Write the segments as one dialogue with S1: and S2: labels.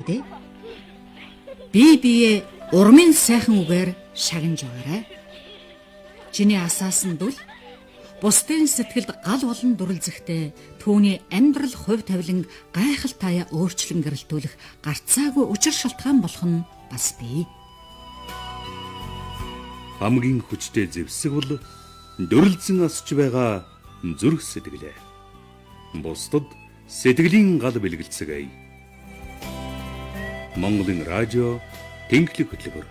S1: дээ. Бие урмын сайхан үгээр шагнаж байгаарай. Чиний асаасан дүл бусдын сэтгэлд гал болон дүрлзэхтэй түүний амьдрал хувь тавилан гайхалтайя өөрчлөн гэрэлтүүлэх гарцаагүй учир шалтгаан болох нь бас бий.
S2: Хамгийн хүчтэй зэвсэг бол дүрлзэн асч байгаа зүрх сэтгэлээ. Бусдад сэтгэлийн гал бэлгэлцгээе. Монголын радио Тэнхлэг хөтөлбөр.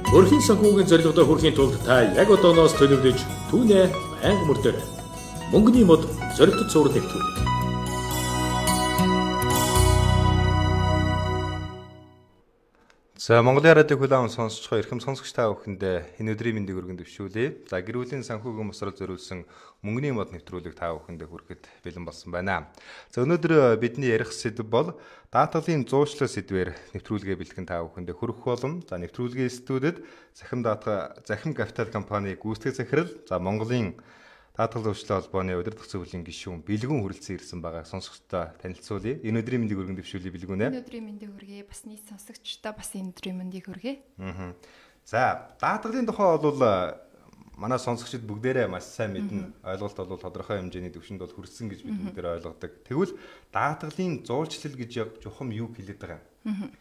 S3: Өрхийн санхүүгийн зорилгодоо хүрэхийн тулд та яг одооноос төлөвлөж түүнээ байнга мөрдөрэй. Мөнгөний мод зоригтод суурь нэвтрүүлэг.
S4: За Монголын радио хүлээн сонсож байгаа эрхэм сонсогч та бүхэндээ энэ өдрийн мэндийг өргөн дэвшүүлье. За гэр бүлийн санхүүгийн босрол зориулсан мөнгөний мод нэвтрүүлэг та бүхэндээ хүрэхэд бэлэн болсон байна. За өнөөдөр бидний ярих сэдэв бол даатгалын зуучлал сэдвээр нэвтрүүлгээ бэлтгэн та бүхэндээ хүргэх болон за нэвтрүүлгийн студид Захим Капитал компани гүйцэтгэх захирал за Монголын даатгал зуучлалын холбооны удирдах зөвлөлийн гишүүн Бэлгүн хүрэлцэн ирсэн байгаа сонсогчдоо танилцуулъя. Энэ өдрийн мэндийг өргөн дэвшүүлье Бэлгүн ээ.
S5: Энэ өдрийн мэндийг хүргэе. Бас нийт сонсогчдоо бас энэ өдрийн мэндийг хүргэе.
S4: За даатгалын тухай бол манай сонсогчид бүгдээрээ маш сайн мэднэ. Ойлголт бол тодорхой хэмжээний төвшөнд бол хүрсэн гэж бид бүгдээр ойлгодог. Тэгвэл даатгалын зуулчлал гэж чухам юу хэлээд байгаа юм?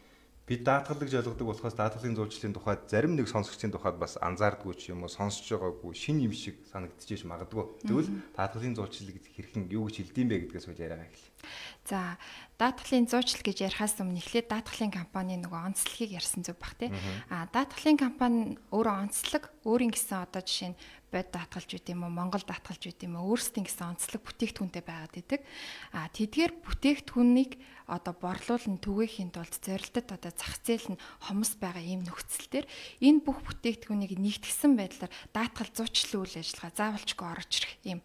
S4: Бид даатгал гэж ойлгодог болохоос даатгалын зуулчлалын тухайд зарим нэг сонсогчдын тухайд бас анзаардгүй ч юм уу сонсож байгаагүй шин юм шиг санагдчихэж магадгүй. Тэгвэл даатгалын зуулчлал гэж хэрхэн юу гэж хэлдэм бэ гэдгээс үл яриагаа эхэллээ.
S5: За даатгалын зуучлал гэж ярихаас өмнө эхлээд даатгалын компани нөгөө онцлогийг ярьсан зүг бах тий. Даатгалын компани өөрөө онцлог өөрийн гэсэн одоо жишээ нь бод даатгалж үт юм уу Монгол даатгалж үт юм уу өөрсдийн гэсэн онцлог бүтээгдэхүүнтэй байгаад идэг. Тэдгээр бүтээгдэхүүнийг одоо борлуулан түгээхийн тулд зорилтод одоо зах зээл нь хомс байгаа ийм нөхцөл төр энэ бүх бүтээгдэхүүнийг нэгтгэсэн байдлаар даатгал зуучлалын үйл ажиллагаа заавалчгүй орж ирэх ийм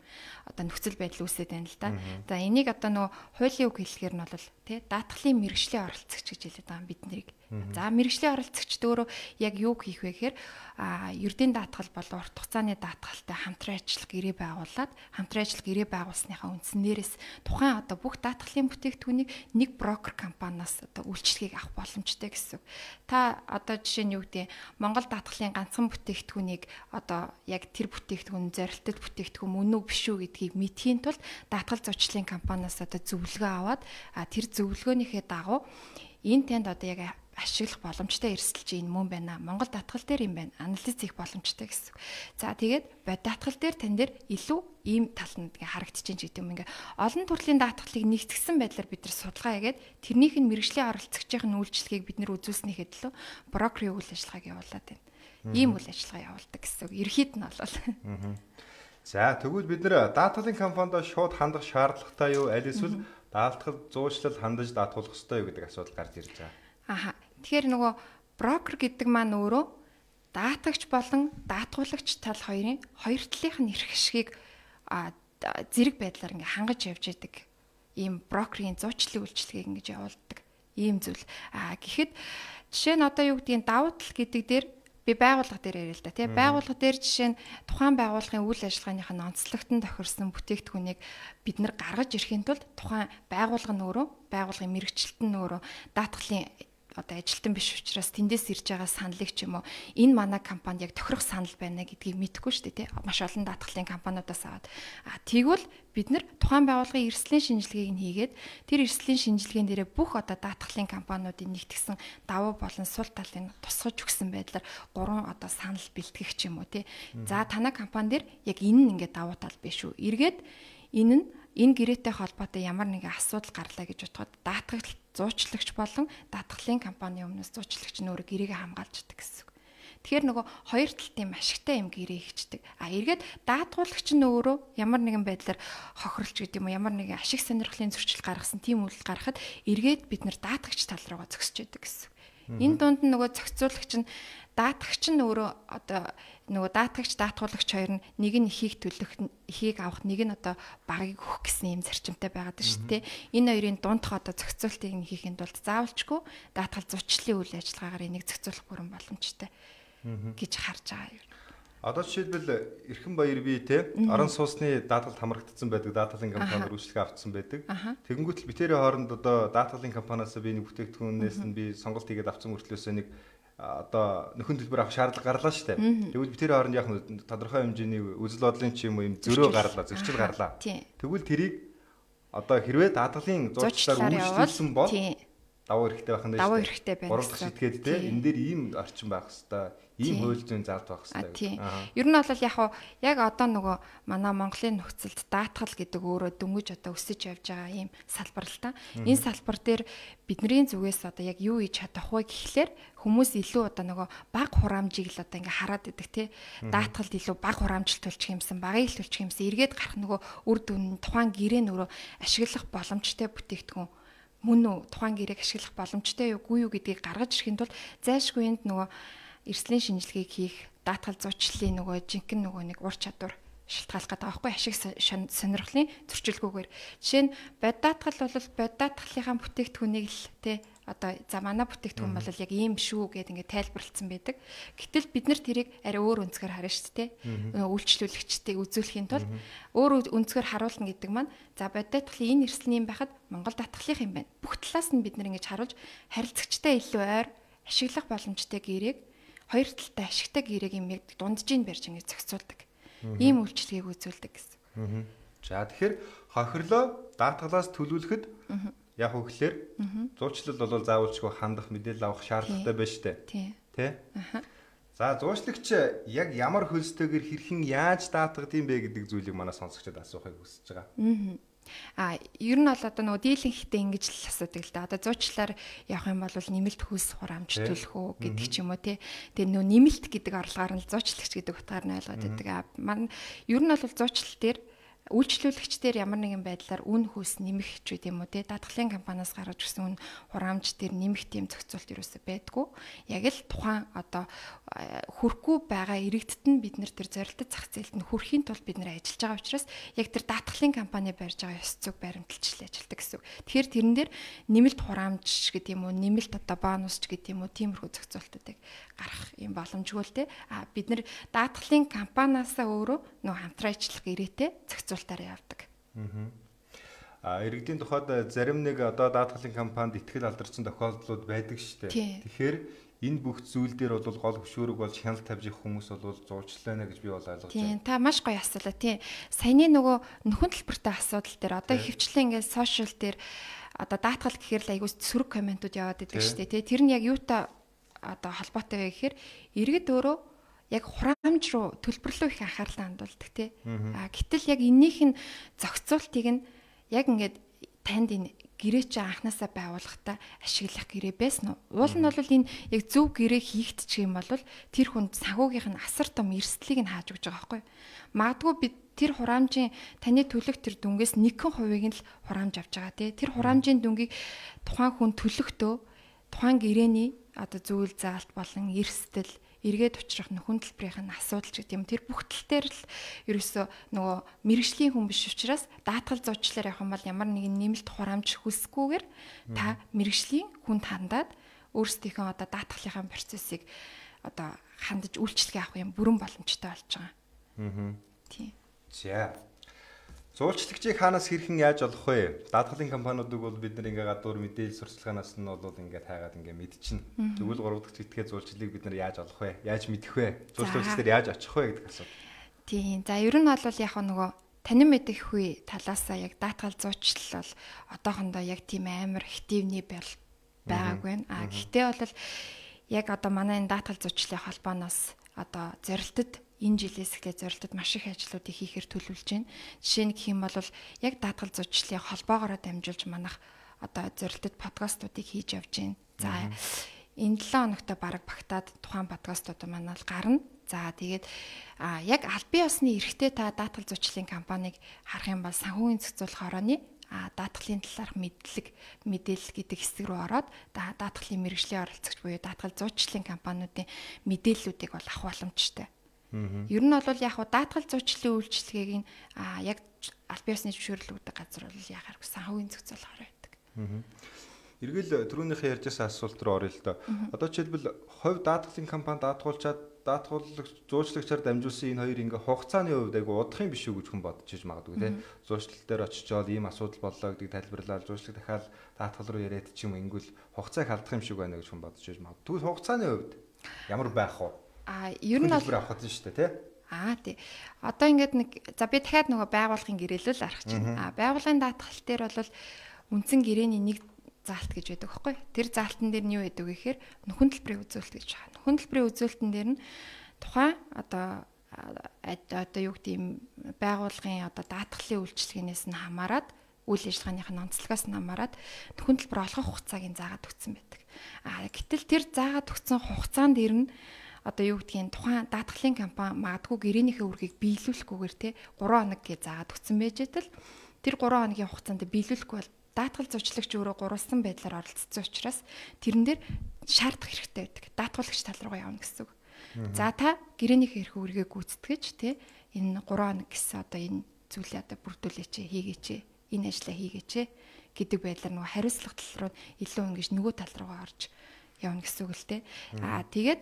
S5: одоо нөхцөл байдал үүсээд байна л да. За энийг одоо нөгөө хуулийн үг хэлэхээр нь бол тий даатгалын мэргэжлийн оролцогч гэж хэлээд байгаа бид нарыг. За мэргэжлийн оролцогчд өөрөө яг юу хийх вэ гэхээр ердийн даатгал болон урт хугацааны даатгалтай хамтран ажиллах гэрээ байгуулад хамтран ажиллах гэрээ байгуулсныхаа үндснээрээс тухайн одоо бүх даатгалын бүтээгдэхүүнийг нэг брокер компаниас одоо үйлчлэгийг авах боломжтой гэсэн. Та одоо жишээ нь юу гэдэг Монгол даатгалын ганцхан бүтээгдэхүүнийг одоо яг тэр бүтээгдэхүүн зорилттой бүтээгдэхүүн мөн үү биш үү гэдгийг мэдхийн тулд даатгал зуучлалын компаниас одоо зөвлөгөө аваад тэр зөвлөгөөнийхээ дагуу энэ танд одоо яг ашиглах боломжтой эрсдэлч энэ мөн байна. Монгол даатгал дээр юм байна. Анализ хийх боломжтой гэсэн. За тэгээд бод даатгал дээр тань дээр илүү ийм тал нь харагдчихээн гэдэг юм. Ингээ олон төрлийн даатгалыг нэгтгэсэн байдлаар бид нар судалгаа хийгээд тэрнийх нь мэргэжлийн оролцогчийн үйлчлэгийг бид нар үзүүлснийхээ төлөө брокерийн үйл ажиллагааг явуулаад байна. Ийм үйл ажиллагаа явуулдаг гэсэн. Ерхийд нь бол.
S4: За тэгвэл бид нар даатгалын компанид шууд хандах шаардлагатай юу? Аль эсвэл даатгал зуучлал хандаж даатгуулах ёстой юу гэдэг асуудал гарч ирж байгаа.
S5: Тэгэхээр нөгөө брокер гэдэг маань өөрөө даатгагч болон даатгуулагч тал хоёрын хоёр талынх нь эрх ашигыг зэрэг байдлаар ингээ хангаж явж идэг. Ийм брокерийн зуучлалын үйлчлэгийг ингэж явуулдаг. Ийм зүйл. Гэхэд жишээ нь одоо юу гэдгийг давуу тал гэдэг дээр би байгууллага дээр яриа л да тий. Байгууллага дээр жишээ нь тухайн байгууллагын үйл ажиллагааных нь онцлогтон тохирсон бүтээгдэхүүнийг бид нар гаргаж ирэхийн тулд тухайн байгууллага нь өөрөө байгууллагын мэргэжилтэн нь өөрөө даатгалын одоо ажилтан биш учраас тэндээс ирж байгаа саналыг ч юм уу энэ манай компанид яг тохирох санал байна гэдгийг мэдэхгүй шүү дээ тий. Маш олон даатгалын компаниудаас аваад тэгвэл бид нар тухайн байгууллагын эрсдлийн шинжилгээг нь хийгээд тэр эрсдлийн шинжилгээнд дээрээ бүх одоо даатгалын компаниудын нэгтгсэн давуу болон сул талыг тусгаж өгсөн байдлаар 3 одоо санал бэлтгэх ч юм уу тий. За танай компани дээр яг энэ нь ингээд давуу тал биш үү. Эргээд энэ гэрээтэй холбоотой ямар нэгэн асуудал гарлаа гэж бодоход даатгал зуучлагч болон даатгалын компани өмнөөс зуучлагч нь өөрөө гэрээгээ хамгаалж идэг гэсэн. Тэгэхээр нөгөө хоёр талын ашигтай юм гэрээ хийчдэг. Эргээд даатгуулагч нь өөрөө ямар нэгэн байдлаар хохирлж гэдэг юм уу ямар нэгэн ашиг сонирхлын зөрчил гаргасан тийм үйлдэл гаргахад эргээд бид нар даатгагч тал руугаа зогсож идэг гэсэн. Энэ дунд нь нөгөө зохицуулагч нь даатгагч нь өөрөө одоо нөгөө даатгагч даатгуулагч хоёр нь нэг нь эхийг авах нэг нь одоо багыг өгөх гэсэн юм зарчимтай байгаад байна шүү дээ. Энэ хоёрын дундх одоо зохицуултыг нь хийхэд бол заавалчгүй даатгал зуучлалын үйл ажиллагаагаар энийг зохицуулах бүрэн боломжтой. гэж харж байгаа юм.
S4: Одоо жишээлбэл Эрхэн Баяр бие те орон сууцны даатгалд хамрагдсан байдаг даатгалын компаниар үйлчлэгээ авцсан байдаг. Тэгэнгүүт л битэрийн хооронд одоо даатгалын компаниас би нэг бүтээгдэхүүнээс нь би сонголт хийгээд авсан мөртлөөсөө нэг одоо нөхөн төлбөр авах шаардлага гарлаа шүү дээ. Тэгвэл битэрийн хооронд яг тодорхой хэмжээний үзэл бодлын ч юм уу юм зөрөө гарлаа, зөрчил гарлаа. Тэгвэл тэрийг одоо хэрвээ даатгалын зурчлаар үйлчлүүлсэн бол давуу хэрэгтэй байх нь дээ.
S5: Давуу хэрэгтэй байна.
S4: Гурав дахь шитгээд те энэ дээр ийм орчин байх хэвээр, ийм хууль зүйн заалт байх хэвээр.
S5: Ер нь бол яг одоо нөгөө манай Монголын нөхцөлд даатгал гэдэг өөрөө дөнгөж одоо өсөж явж байгаа ийм салбар л та. Энэ салбар дээр бидний зүгээс одоо яг юу хийж чадах вэ гэхлээр хүмүүс илүү одоо нөгөө бага хураамжийг л одоо ингээ хараад идэг те. Даатгалд илүү бага хураамжлт төлчих юмсан, багыг л төлчих юмсан. Эргээд гарах нөгөө үр дүн тухайн гэрээ нөрөө ашиглах боломжтой бүтээгдэхүүн мөн үү тухайн гэрээг ашиглах боломжтой юу гэдгийг гаргаж ирэхэд бол зайлшгүй энд нөгөө эрсдлийн шинжилгээг хийх даатгал зуучлалын нөгөө жинхэнэ нөгөө нэг ур чадвар шилтгаалах гэдэг аахгүй ашиг сонирхлын зөрчилгүүгээр жишээ нь бод даатгал бол бод даатгалынхаа бүтээгдэхүүнийг л те одоо за манай бүтээгдэхүүн бол яг ийм шүү гэдээ ингээд тайлбарлагдсан байдаг. Гэтэл бид нар тэрийг арай өөр өнцгөр харна шүү дээ. Үйлчлүүлэгчдийг үзүүлэхийн тулд өөр өнцгөр харуулна гэдэг маань за бод даатгалын энэ эрсдэл юм байхад Монгол даатгалынх юм байна. Бүх талаас нь бид нар ингэж харуулж харилцагчтай илүү ойр ашиглах боломжтой гэрээг хоёр талтай ашигтай гэрээг юм яг дунджийн барьж ингэж зохицуулдаг. Ийм үйлчлэгийг үзүүлдэг гэсэн.
S4: За тэгэхээр хохирлоо даатгалаас төлөвлөхөд яг үгээр зуучлал бол заавалчгүй хандах мэдээлэл авах шаардлагатай байна шүү дээ. Тэ? За зуучлагч яг ямар хөлстэйгээр хэрхэн яаж даатгад юм бэ гэдэг зүйлийг манай сонсогчдод асуухыг хүсэж байгаа.
S5: Ер нь бол одоо нөгөө дийлэнхтэй ингэж л асуудаг л да. Одоо зуучлаар явах юм бол нэмэлт хөлс хураамж төлөх үү гэдэг ч юм уу тий. Тэгээ нөгөө нэмэлт гэдэг орлогоор нь зуучлагч гэдэг утгаар нь ойлгоод байдаг. Ер нь бол зуучлал дээр үйлчлүүлэгчдэр ямар нэгэн байдлаар үн хөлс нэмэх ч үгүй юм уу те даатгалын компаниас гаргаж ирсэн үн хураамж дээр нэмэх тийм зохицуулт юусоо байдгүй. Яг л тухайн одоо хүрхгүй байгаа иргэдэд нь бид нар тэр зорилттой зах зээлд нь хүрэхийн тулд бид нар ажиллаж байгаа учраас яг тэр даатгалын компани барьж байгаа ёс зүйг баримталж ажилладаг гэсэн үг. Тэгэхээр тэрэн дээр нэмэлт хураамж гэдэг юм уу нэмэлт одоо бонус ч гэдэг юм уу тиймэрхүү зохицуултуудыг гарах юм боломжгүй л те. Бид нар даатгалын компаниасаа өөрөө нөө хамтран ажиллах гэрээтэй зохицуултаараа явдаг.
S4: Иргэдийн тухайд зарим нэг одоо даатгалын компанид итгэл алдарсан тохиолдлууд байдаг шүү дээ. Тэгэхээр энэ бүх зүйл дээр бол гол хөшөөрөг болж хяналт тавьж их хүмүүс бол зуучлаана гэж би бол ойлгож байна.
S5: Тийм, та маш гоё асуулаа тийм. Саяны нөгөө нөхөн төлбөртэй асуудал дээр одоо хөвчлэн ингээд сошиал дээр одоо даатгал гэхээр л айгуу сөрөг комментууд яваад идэг шүү дээ. Тэр нь яг юутай одоо холбоотой вэ гэхээр иргэд өөрөө яг хураамж руу төлбөрлөө их анхаарлаа хандуулдаг тий. Гэтэл яг эннийх нь зохицуултыг нь яг ингээд танд энэ гэрээ чи анханасаа байгуулахдаа ашиглах гэрээ байсан уу? Уул нь бол энэ яг зөв гэрээ хийгдчих юм бол тэр хүнд санхүүгийнх нь асар том эрсдлийг нь хааж өгч байгаа байхгүй. Магадгүй бид тэр хураамжийн таны төлөх тэр дүнгээс 1% нь л хураамж авч байгаа тий. Тэр хураамжийн дүнгийг тухайн хүн төлөхдөө тухайн гэрээний одоо зүйл заалт болон эрсдэл эргээд учрах нөхөн төлбөрийн асуудал гэдэг юм. Тэр бүх тал дээр л ерөөсөө нөгөө мэрэгжлийн хүн биш учраас даатгал зуучлаар явах юм бол ямар нэгэн нэмэлт хураамж хүсэхгүйгээр та мэрэгжлийн хүнд хандаад өөрсдийнхөө одоо даатгалынхаа процессыг одоо хандаж үйлчлэгээ авах юм бүрэн боломжтой болж байгаа. Тийм.
S4: За. Зуулчлагчийг хаанаас хэрхэн яаж олох вэ? Даатгалын компаниудыг бол бид нар ингээ гадуур мэдээлэл сурталчилгаанаас нь бол ингээ таагаад ингээ мэдчихнэ. Тэгвэл 3 дахь зэтгээ зуулчлалыг бид нар яаж олох вэ? Яаж мэдэх вэ? Зуулчлагчдэр яаж очих вэ гэдэг асуулт.
S5: Тийм. За ер нь бол яг нөгөө танин мэдэх үе талаасаа яг даатгал зуучлал бол одоохондоо яг тийм амар активний байгаагүй байна. Гэхдээ бол яг одоо манай энэ даатгал зуучлалын холбооноос одоо зорилтод энэ жилээс эхлээд зорилтод маш их ажлуудыг хийхээр төлөвлөж байна. Жишээ нь гэх юм бол яг даатгал зуучлалын холбоогоор дамжуулж манах одоо зорилтод подкастуудыг хийж явж байна. За энэ 7 хоногт бараг багтаад тухайн подкастууд манай л гарна. За тэгээд яг аль бие усны эрхтэй та даатгал зуучлалын компанийг харах юм бол санхүүгийн зохицуулах орооны даатгалын талаарх мэдээлэл гэдэг хэсэг рүү ороод даатгалын мэргэжлийн оролцогч буюу даатгал зуучлалын компаниудын мэдээллүүдийг бол авах боломжтой. Ер нь бол яг даатгал зуучлалын үйлчилгээг нь яг аль бие усны зөвшөөрлөгдөг газар бол яхаар санхүүгийн зохицуулахаар байдаг.
S4: Эргэл түрүүнийхээ ярьжсэн асуулт руу орё л доо. Одоо жишээлбэл хувь даатгалын компани даатгуулчаад даатгуулагч зуучлагчаар дамжуулсан энэ хоёр ингээ хугацааны хувьд айгу удах юм биш үү гэж хүн бодож иж магадгүй те. Зуучлал дээр очичоод ийм асуудал боллоо гэдгийг тайлбарлаад зуучлаг дахиад даатгал руу яриад ч юм ингүүл хугацааг алдах юм шиг байна гэж хүн бодож иж магадгүй. Тэгвэл хугацааны хувьд ямар байх вэ?
S5: Ер нь бол
S4: авах нь шүү дээ те.
S5: Тий. Одоо ингээд за би дахиад нөгөө байгууллагын гэрээлэл арах чинь. Байгууллагын даатгал дээр бол үндсэн гэрээний нэг заалт гэж байдаг байхгүй. Тэр заалтан дээр нь юу байдаг вэ гэхээр нөхөн төлбөрийн үзүүлэлт гэж байна. Нөхөн төлбөрийн үзүүлэлтэн дээр нь тухайн одоо юу гэдэг юм байгууллагын одоо даатгалын үйлчилгээнээс нь хамаарат үйл ажиллагааных нь онцлогоос нь хамаарат нөхөн төлбөр олгох хугацааг нь заагаад өгсөн байдаг. Гэтэл тэр заагаад өгсөн хугацаанд дээр нь одоо юу гэдгийг тухайн даатгалын компани магадгүй гэрээнийхээ үргийг биелүүлэхгүйгээр те 3 хоног гэж заагаад өгсөн байж тал тэр 3 хоногийн хугацаанд биелүүлэхгүй бол даатгал зурчлагч өөрөө гурвалсан байдлаар оролцсон учраас тэрэн дээр шаардах хэрэгтэй байдаг. Даатгуулагч тал руугаа явна гэсэн үг. За та гэрээнийхээ эрх үргээ гүйцэтгэж те энэ 3 хоног гэсэн одоо энэ зүйлээ одоо бүрдүүлээч хийгээч энэ ажлаа хийгээч гэдэг байдлаар нөгөө хариуцлага тал руу илүү ингэж нөгөө тал руугаа орж явна гэсэн үг л те. Тэгээд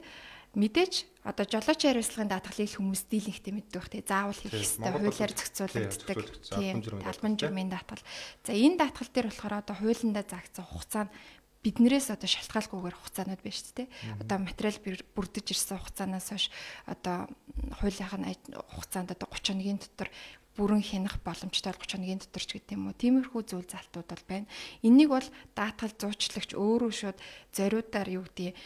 S5: мэдээж одоо жолоочийн хариуцлагын даатгалыг хүмүүс дийлэнхтэй мэддэг бах те заавал хийх ёстой хуулиар зохицуулагддаг тийм албан журмын даатгал. За энэ даатгал дээр болохоор одоо хуулиндаа заагдсан хугацаа нь биднээс одоо шалтгаалгүйгээр хугацаанууд байна шүү дээ. Одоо материал бүрдэж ирсэн хугацаанаас хойш одоо хуулийнхаа хугацаанд одоо 30 хоногийн дотор бүрэн хянах боломжтой 30 хоногийн дотор ч гэдэг юм уу. Тиймэрхүү зүйл залтууд бол байна. Энийг бол даатгал зуучлагч өөрөө шууд зориудаар юу гэдэг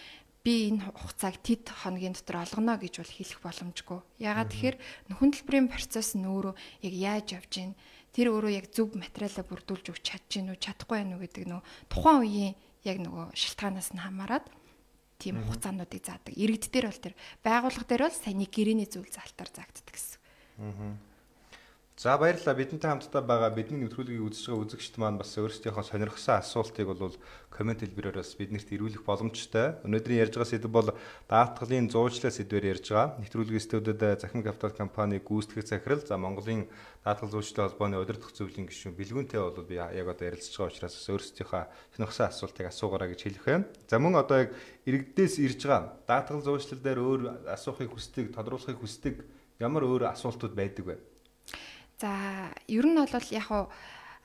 S5: би энэ хугацааг тэд хоногийн дотор олгоно гэж бол хэлэх боломжгүй. Ягаад тэгэхээр нөхөн төлбөрийн процесс нь өөрөө яг яаж явж гин тэр өөрөө яг зөв материалаа бүрдүүлж өгч чадж гин үү чадахгүй байх уу гэдэг нөө тухайн үеийн яг нөгөө шалтгаанаас нь хамаарат тийм хугацаануудыг заадаг. Иргэд дээр бол тэр байгууллага дээр бол саяны гэрээний зүйл залтаар заагддаг гэсэн.
S4: За баярлалаа. Бидэнтэй хамтдаа байгаа бидний нэвтрүүлгийг үзэж байгаа үзэгчд маань бас өөрсдийнхөө сонирхсан асуултыг бол комент хэлбэрээр бас биднэрт ирүүлэх боломжтой. Өнөөдрийн ярьж байгаа сэдв бол даатгалын зуучлал сэдвээр ярьж байгаа. Нэвтрүүлгийн студиуд Захин Капитал компани гүйцэтгэх захирал за Монголын даатгал зуучлалын холбооны удирдах зөвлөлийн гишүүн Бэлгүүнтэй бол би яг одоо ярилцж байгаа учраас өөрсдийнхөө сонирхсан асуултыг асуугаарай гэж хэлэх байна. За мөн одоо яг иргэдээс ирж байгаа даатгал зуучлал дээр өөр асуухыг хүсдэг, тодруулахыг хүсдэг ямар өөр асуултууд байдаг вэ?
S5: За ер нь бол яг хуу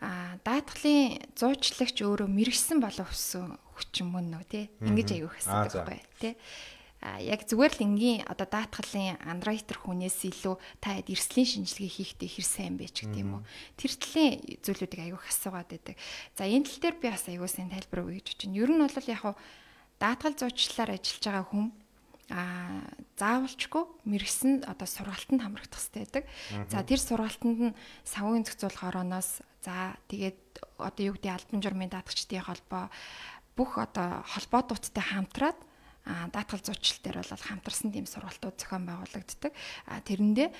S5: даатгалын зуучлагч өөрөө мэрэгсэн болов өссөн хүчин мөн нөө тий ингэж аягүй хэсэг байхгүй тий яг зүгээр л энгийн одоо даатгалын андроитер хүнээс илүү та хэд эрслийн шинжилгээ хийхдээ хэр сайн бэ ч гэдэг юм уу тэр төлөлийн зүйлүүдийг аягүй асуугаад байдаг. За энэ тал дээр би бас аягүй сайн тайлбар өгье гэж байна. Ер нь бол яг хуу даатгал зуучлалаар ажиллаж байгаа хүн заавалчгүй мэрэгсэн одоо сургалтанд хамрагдах хэрэгтэй байдаг. За тэр сургалтанд нь савгийн зохицуулах орооноос за тэгээд одоо юу гэдэг албан журмын даатгачдын холбоо бүх одоо холбоодуудтай хамтраад даатгал зуучлал дээр бол хамтарсан тийм сургалтууд зохион байгуулагддаг. Тэрэндээ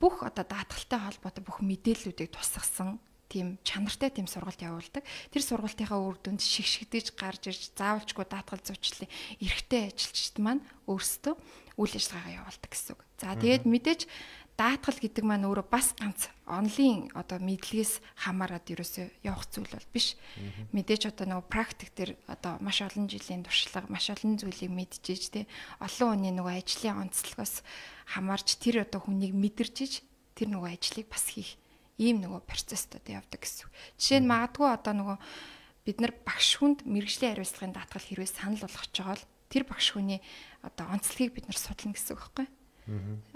S5: бүх одоо даатгалтай холбоотой бүх мэдээллүүдийг тусгасан тийм чанартай тийм сургалт явуулдаг. Тэр сургалтынхаа үр дүнд шигшигдэж гарч ирж заавалчгүй даатгал зуучлалын эрхтэй ажилчид маань өөрсдөө үйл ажиллагаагаа явуулдаг гэсэн үг. За тэгээд мэдээж даатгал гэдэг маань өөрөө бас ганц онлайн одоо мэдлэгээс хамаарат ерөөсөө явах зүйл бол биш. Мэдээж одоо нөгөө практик дээр одоо маш олон жилийн туршлага, маш олон зүйлийг мэдчихэж тэ олон хүний нөгөө ажлын онцлогоос хамаарч тэр одоо хүнийг мэдэрчиж тэр нөгөө ажлыг бас хийх ийм нөгөө процесстэй явдаг гэсэн. Жишээ нь магадгүй одоо нөгөө бид нар багш хүнд мэргэжлийн хариуцлагын даатгал хэрвээ санал болгож байгаа бол тэр багш хүний одоо онцлогийг бид нар судлана гэсэн үг байхгүй.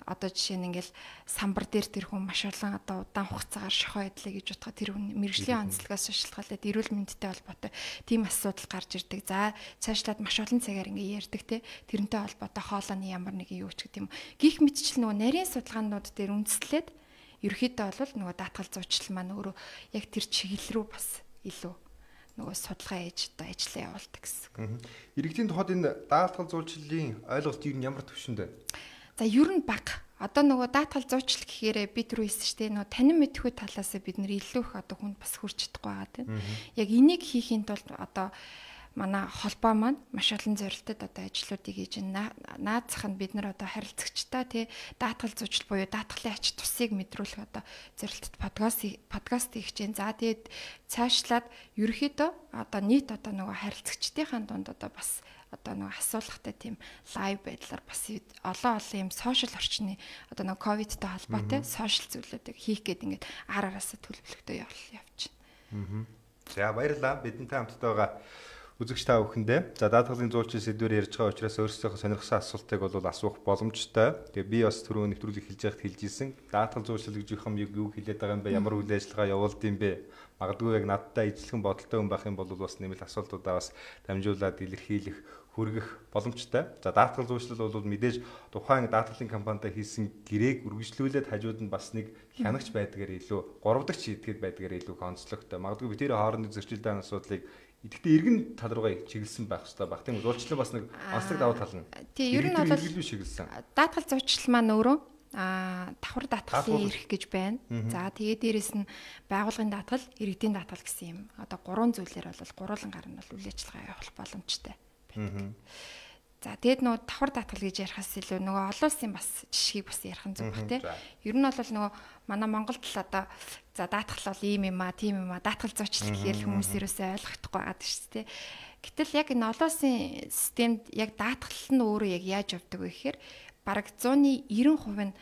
S5: Одоо жишээ нь ингээл самбар дээр тэр хүн маш олон одоо удаан хугацаагаар шохоо идлээ гэж бодоход тэр хүн мэргэжлийн онцлогоос шалтгаалаад эрүүл мэндтэй холбоотой тийм асуудал гарч ирдэг. За цаашлаад маш олон цагаар ингээ ярьдаг те тэрнтэй холбоотой хоолойны ямар нэгэн юу ч гэдэг юм. Гих мэтчил нөгөө нарийн судалгаанууд дээр үндэслээд ерөөхдөө бол нөгөө даатгал зуучлал маань өөрөө яг тэр чиглэл рүү бас илүү нөгөө судалгаа хийж одоо ажиллаа явуулдаг гэсэн.
S4: Иргэдийн тухайд энэ даатгал зуучлалын ойлголт юу ямар төвшөнд вэ?
S5: За ер нь бага. Одоо нөгөө даатгал зуучлал гэхээрээ бид рүү хэлсэн шүү дээ. Нөгөө танин мэдхүй талаас бид нар илүү их одоо хүнд бас хүрч чадахгүй байгаа тийм. Яг энийг хийхийн тулд одоо манай холбоо маань маш олон зорилтод одоо ажлуудыг хийж байна. Наадзах нь бид нар одоо харилцагчтай тий даатгал зуучлал буюу даатгалын ач тусыг мэдрүүлэх одоо зорилтод подкаст хийж байна. За тэгээд цаашлаад ерөөхдөө одоо нийт одоо нөгөө харилцагчдынхаа дунд одоо бас одоо нэг асуулгатай тийм лайв байдлаар бас олон юм сошиал орчны одоо нэг ковидтай холбоотой сошиал зүйлүүдийг хийх гээд ингээд араасаа төлөвлөгтөө явж байна.
S4: За баярлалаа. Бидэнтэй хамтдаа байгаа үзэгч та бүхэндээ. За даатгалын зуулчин сэдвээр ярьж байгаа учраас өөрсдийнхөө сонирхсан асуултыг бол асуух боломжтой. Тэгээ би бас түрүү нэвтрүүлэг хэлж байхад хэлж ийсэн. Даатгал зуулчлал гэж юу хэлээд байгаа юм бэ? Ямар үйл ажиллагаа явуулд юм бэ? Магадгүй яг надтай ижилхэн бодолтой хүн байх юм бол бас нэмэлт асуултуудаа бас дамжуулаад илэрхийлэх хүргэх боломжтой. За даатгал зуулчлал бол мэдээж тухайн даатгалын компанитай хийсэн гэрээг үргэлжлүүлээд хажууд нь бас нэг хянагч байдгаар илүү 3 дахь шийдгээд байдгаар илүү онцлогтой. Магадгүй би тэр хоорондын зөрчилдөөн асуудлыг идэвхтэй эргэн тал руугаа чиглэсэн байх хэрэгтэй баг. Тийм зуулчлал бас нэг онцлог давуу тал нь.
S5: Тийм ер нь бол
S4: чиглэсэн.
S5: Даатгал зуучлал маань өөрөө давхар даатгалын эрх гэж байна. За тэгээд дээрэс нь байгууллагын даатгал, иргэдийн даатгал гэсэн юм. Одоо 3 зүйлээр бол гурван гар нь бол үйл ажиллагаа явуулах боломжтой байдаг. За тэгээд нөгөө давхар даатгал гэж ярихаас илүү нөгөө олон улсын бас жишгийг бас ярих нь зөв бах тий. Ер нь бол нөгөө манай Монголд л одоо за даатгал бол ийм юм аа, тийм юм аа, даатгал зуучлал гэхэл хүмүүс ерөөсөө ойлгохдохгүй байгаа шүү дээ. Гэтэл яг энэ олон улсын системд яг даатгал нь өөрөө яг яаж явдаг вэ гэхээр бараг 190% нь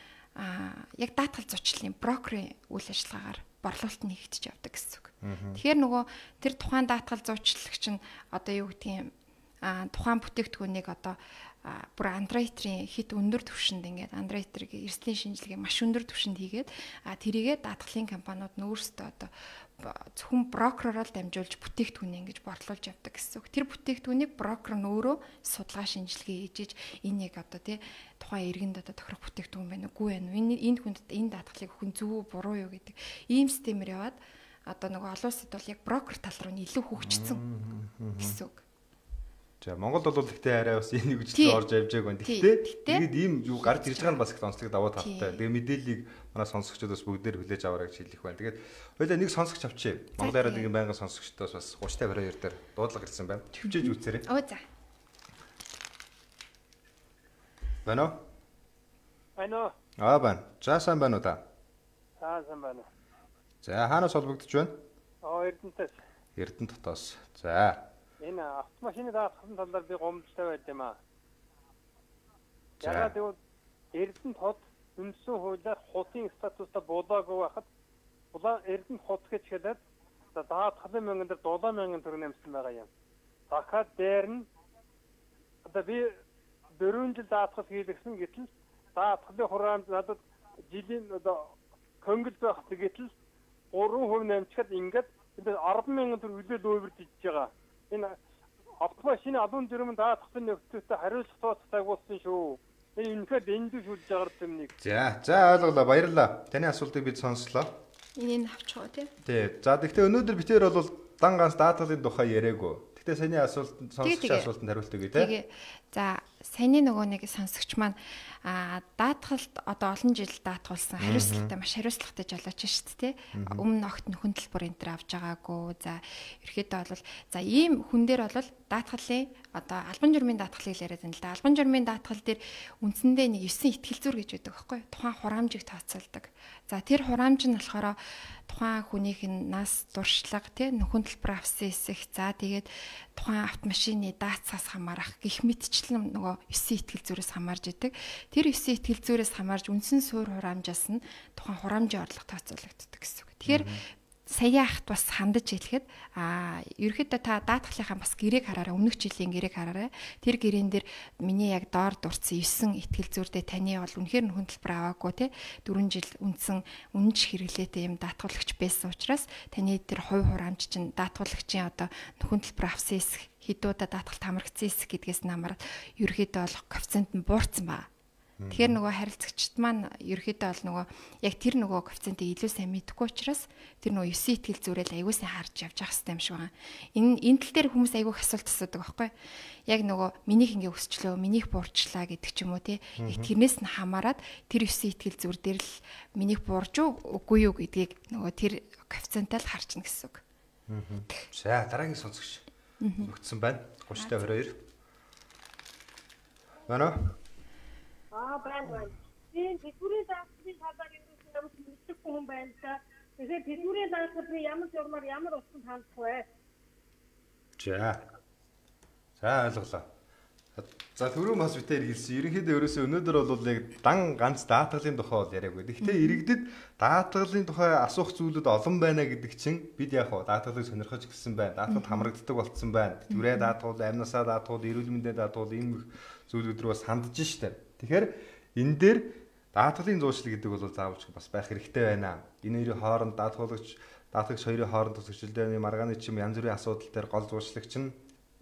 S5: яг даатгал зуучлалын брокерийн үйл ажиллагаагаар борлуулалт нь хийгдэж явдаг гэсэн үг. Тэгэхээр нөгөө тэр тухайн даатгал зуучлагч нь одоо юу гэдгийг тухайн бүтээгдэхүүнийг одоо бүр Android-ийн хит өндөр түвшинд ингээд Android-ийг эрсдлийн шинжилгээ маш өндөр түвшинд хийгээд тэрийгээ даатгалын компаниуд нь өөрсдөө одоо зөвхөн брокероор дамжуулж бүтээгдэхүүнийг ингэж борлуулж явдаг гэсэн үг. Тэр бүтээгдэхүүнийг брокер нь өөрөө судалгаа шинжилгээ хийж энэ яг одоо тий тухайн иргэнд одоо тохирох бүтээгдэхүүн байна уу, үгүй байна уу? Энэ хүнд энэ даатгалыг хүн зөв үү, буруу юу гэдэг ийм системээр яваад одоо нөгөө олон улсад бол яг брокер тал руу илүү хөгжсөн гэсэн үг.
S4: За Монголд бол гэхдээ арай бас энэ үгжлэл орж явж байгааг байна. Гэхдээ тэгээд ийм юу гарч ирж байгаа нь бас их онцлог давуу талтай. Тэгээ мэдээллийг манай сонсогчдод бас бүгдээр хүлээж аваарай гэж хэлэх байна. Тэгээд хоёулаа нэг сонсогч авчи. Монгол радиогийн байнгын сонсогчдоос бас 30-52 дээр дуудлага ирсэн байна. Төвчээж үзээрэй.
S5: За.
S4: Байна уу?
S6: Байна уу?
S4: Байна. За сайн байна уу та?
S6: Сайн байна.
S4: За хаанаас холбогдож байна?
S6: Эрдэнэтээс.
S4: Эрдэнэт хотоос. За.
S6: Энэ автомашины даатгалын талаар би гомдолтой байд юм аа. Яагаад гэвэл Эрдэнэт хот үндсэн хуулиар хотын статустай болоогүй байхад Эрдэнэт хот гэж хэлээд даатгалын мөнгөн дээр 7,000 төгрөг нэмсэн байгаа юм. Дахиад дээр нь одоо би 4 жил даатгал хийлгсэн гэтэл даатгалын хураамж надад жилийн одоо хөнгөл байх гэтэл 3% нэмчихэд ингээд 10,000 төгрөг үлээл өөрөж ижиж байгаа. Энэ автомашины алуун жирэмэн даатгалын нөхцөлтэй хариуцлага тооцоолсон шүү. Энэ үнэхээр дэндүү шүлж байгаа юм нэг.
S4: За ойлголоо, баярлалаа. Таны асуултыг бид сонслоо.
S5: Энийг авчихоо тий.
S4: Тий. За тэгэхээр өнөөдөр битээр бол дан ганц даатгалын тухай яриаггүй. Гэхдээ саяны асуултанд сонсогч асуултанд хариулт өгье тий.
S5: За саяны нөгөө нэг сонсогч маань даатгалд одоо олон жил даатгуулсан хариуцлагатай маш хариуцлагатай жолооч шүү дээ тий. Өмнө огт нөхөн төлбөр энэ төр авч байгаагүй. За ерөөхдөө бол за ийм хүн дээр бол даатгалын одоо албан журмын даатгалыг яриад байна л да. Албан журмын даатгал дээр үндсэндээ нэг 9 ихтгэл зүйр гэж байдаг байхгүй юу? Тухайн хураамжийг тооцоолдог. За тэр хураамж нь болохоор тухайн хүнийх нь нас дуршлага тий нөхөн төлбөр авсан эсэх за тэгээд тухайн автомашины даацаас хамаарах гих мэтчлэн нөгөө 9 ихтгэл зүйрээс хамаарж идэг. Тэр 9 ихтгэл зүйрээс хамаарж үндсэн суур хураамжаас нь тухайн хураамжийн орлого тооцоологддог гэсэн үг. Тэгэхээр сая ахт бас хандаж хэлэхэд ерөөхдөө та даатгалынхаа бас гэрээг хараарай. Өмнөх жилийн гэрээг хараарай. Тэр гэрээн дээр миний яг доор дурдсан 9 ихтгэл зүйрдээ таны бол үнэхээр нөхөн төлбөр аваагүй те 4 жил үндсэн үнэнч хэрэглээтэй юм даатгуулагч байсан учраас таны тэр хувь хураамж чинь даатгуулагчийн одоо нөхөн төлбөр авсан эсэх хэдүүдэд даатгалт хамрагдсан эсэх гэдгээс намараад ерөөхдөө бол коэффициент нь буурсан баа. Тэгэхээр нөгөө харилцагчд маань ерөөхдөө бол нөгөө яг тэр нөгөө коэффициентийг илүү сайн мэдэхгүй учраас тэр нөгөө 9 ихтгэл зүйрэл аягүй сайн харж явж явах хэрэгтэй юм шиг байна. Энэ тал дээр хүмүүс аягүй асуулт асуудаг байхгүй. Яг нөгөө минийх ингээ өсчлөө, минийх буурчлаа гэдэг ч юм уу тий. Тэрнээс нь хамаарат тэр 9 ихтгэл зүйр дээр л минийх буурж үгүй юу гэдгийг нөгөө тэр коэффициентаа л харчна гэсэн үг.
S4: За дараагийн сонсогч өгсөн байна. 30-22. Байна уу?
S7: Байна. Тийм тэдгүүрийн даатгалын талаар ямар ч мэдхгүй хүн байна та. Тэгэхээр тэдгүүрийн даатгалын ямар журмаар ямар усанд хандах вэ?
S4: За ойлголоо. За түрүү бас битээр хэлсэн. Ерөнхийдөө ерөөсөө өнөөдөр бол яг дан ганц даатгалын тухай бол яриаггүй. Гэхдээ иргэдэд даатгалын тухай асуух зүйлүүд олон байна гэдэг чинь бид яг даатгалыг сонирхож гисэн байна. Даатгалд хамрагддаг болцсон байна. Тэтгэврээ даатгал, амнасаа даатгал, эрүүл мэндийн даатгал ийм зүйлүүд рүү бас хандж штэ. Тэгэхээр энэ дээр даатгалын зуучлал гэдэг бол заавалж бас байх хэрэгтэй байна. Энэ хоёрын хооронд даатгалагч хоёрын хооронд төсөлдөөний маргааны чим янз бүрийн асуудал дээр гол зуучлагч нь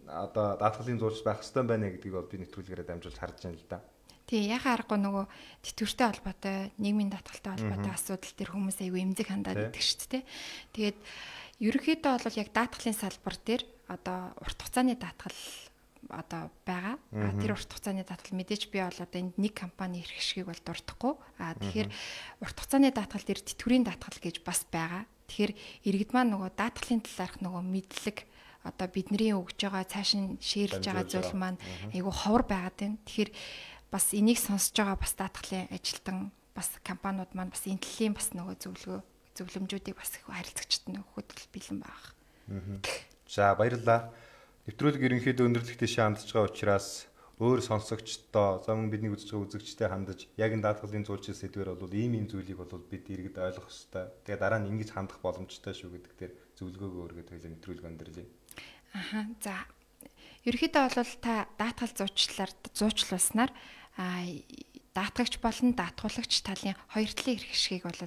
S4: одоо даатгалын зурж байх хэрэгтэй байна гэдгийг бол би нэвтрүүлгээрээ дамжуулж харж байна л да.
S5: Тий, яхаа аргагүй нөгөө тэтгэвртэй холбоотой, нийгмийн даатгалтай холбоотой асуудал төр хүмүүс аягүй эмзэг хандаад идэг шүү дээ. Тэгээд ерөнхийдөө бол яг даатгалын салбар дээр одоо урт хугацааны даатгал одоо байгаа. Тэр урт хугацааны даатгал мэдээж би бол одоо энд нэг компани ирэх шгийг бол дуртахгүй. Тэгэхээр урт хугацааны даатгал дээр тэтгэврийн даатгал гэж бас байгаа. Тэгэхээр иргэд маань нөгөө даатгалын талаарх нөгөө мэдлэг одоо бидний өгж байгаа цааш нь шеэрлж байгаа зүйл маань айгүй ховор байгаад байна. Тэгэхээр бас энийг сонсож байгаа бас даатгалын ажилтан бас компаниуд маань бас энэ төлөлийн бас нөгөө зөвлөмжүүдийг бас харилцагчид нөхөд бэлэн байгаа.
S4: За баярлалаа. Нэвтрүүлэг ерөнхийдөө өндөрлөх дэшээ хандж байгаа учраас өөр сонсогчдоо за мөн бидний үзэж байгаа үзэгчтэй хандаж яг энэ даатгалын зуулчил сэдвэр бол ийм зүйлийг бол бид иргэд ойлгох ёстой. Тэгээ дараа нь ингэж хандах боломжтой шүү гэдэг дээр зөвлөгөөгөө өргөд хоёлаа нэвтрүүлэг өндөрлөе.
S5: За ерөнхийдөө бол та даатгал зуучлуулснаар даатгагч болон даатгуулагч талын хоёр талын эрх ашгийг бол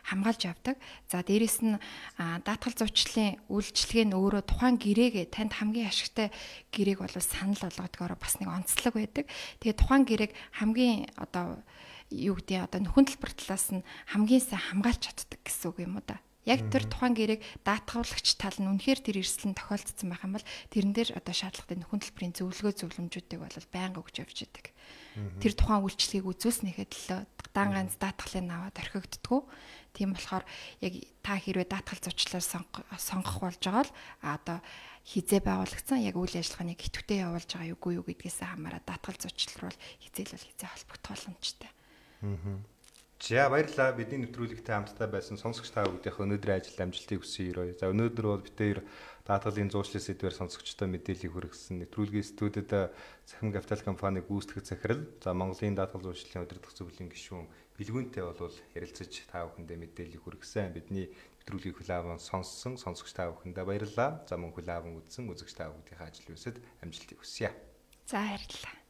S5: хамгаалж явдаг. За дээрэс нь даатгал зуучлалын үйлчлэг нь өөрөө тухайн гэрээгээ танд хамгийн ашигтай гэрээг бол санал болгодгоор бас нэг онцлог байдаг. Тэгээ тухайн гэрээг хамгийн одоо юу гэдэг одоо нөхөн төлбөр талаас нь хамгийн сайн хамгаалж чаддаг гэсэн үг юм уу да. Яг тэр тухайн гэрээг даатгуулагч тал нь үнэхээр тэр эрсдэл нь тохиолдсон байх юм бол тэрэн дээр одоо шаардлагатай нөхөн төлбөрийн зөвлөмжүүдийг бол байнга өгч явж байдаг. Тэр тухайн үйлчлэгийг үзүүлснэхэд л дан ганц даатгалын аваад орхигддгүү. Тийм болохоор яг та хэрвээ даатгал зуучлалаар сонгох болж байгаа л одоо хизээ байгуулагдсан яг үйл ажиллагааны идэвхтэй явуулж байгаа юу гэдгээс хамаараа даатгал зуучлал бол хизээ холбогдох боломжтой.
S4: За баярлалаа. Бидний нэвтрүүлэгтэй хамтдаа байсан сонсогч та бүдийнх өнөөдрийн ажил амжилтыг хүсье өрөө. За өнөөдөр бол битээр даатгалын зуучлал сэдвээр сонсогчдод мэдээллийг хүргэсэн. Нэвтрүүлгийн студид Цахим Капитал компани гүйцэтгэх захирал, за Монголын даатгал зуучлалын удирдах зөвлөлийн гишүүн Билгүүнтэй бол ярилцаж та бүхэндээ мэдээллийг хүргэсэн. Бидний нэвтрүүлгийг хүлээвэн сонссон сонсогч та бүхэндээ баярлалаа. За мөн хүлээвэн үзсэн үзэгч та бүдийнхээ ажил үйлсэд амжилтыг хүсье.
S5: За баярлалаа.